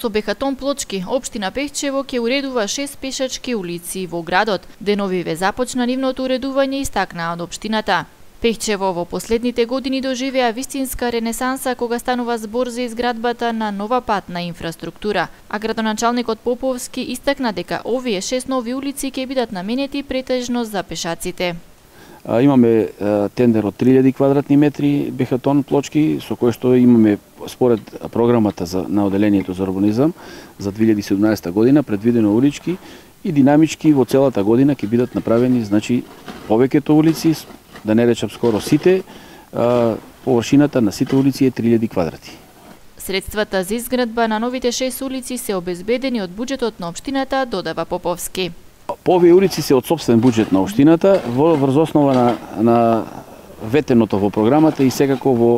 со бехатон плочки, општина Пехчево ќе уредува 6 пешачки улици во градот. Деновиве започна нивното уредување, истакнаа од општината. Пехчево во последните години доживеа вистинска ренесанса кога станува збор за изградбата на нова патна инфраструктура, а градоначалникот Поповски истакна дека овие 6 нови улици ќе бидат наменети претежно за пешаците. Имаме тендер од 3000 квадратни метри бехатон плочки, со кој што имаме според програмата на Оделението за урбанизам за 2017 година предвидено улички и динамички во целата година ќе бидат направени, значи, повеќето улици, да не речам скоро сите, површината на сите улици е 3000 квадрати. Средствата за изградба на новите 6 улици се обезбедени од буџетот на општината, додава Поповски. По овие улици се од сопствен буџет на општината врз основа на ветеното во програмата и секако во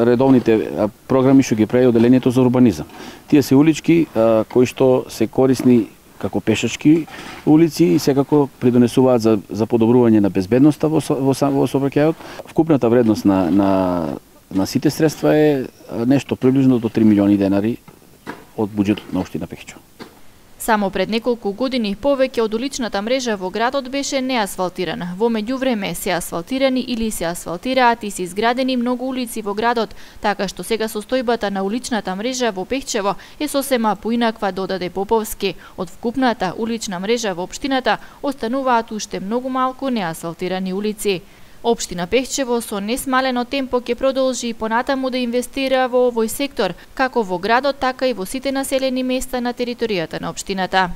редовните програми што ги прави Оделението за урбанизам. Тие се улички кои што се корисни како пешачки улици и секако придонесуваат за подобрување на безбедноста во сообраќајот. Вкупната вредност на сите средства е нешто приближно до 3 милиони денари од буџетот на општина Пехчево. Само пред неколку години повеќе од уличната мрежа во градот беше неасфалтирана. Во меѓувреме се асфалтирани или се асфалтираат и се изградени многу улици во градот, така што сега состојбата на уличната мрежа во Пехчево е сосема поинаква, додаде Поповски. Од вкупната улична мрежа во општината остануваат уште многу малку неасфалтирани улици. Општина Пехчево со несмалено темпо ќе продолжи и понатаму да инвестира во овој сектор, како во градот, така и во сите населени места на територијата на општината.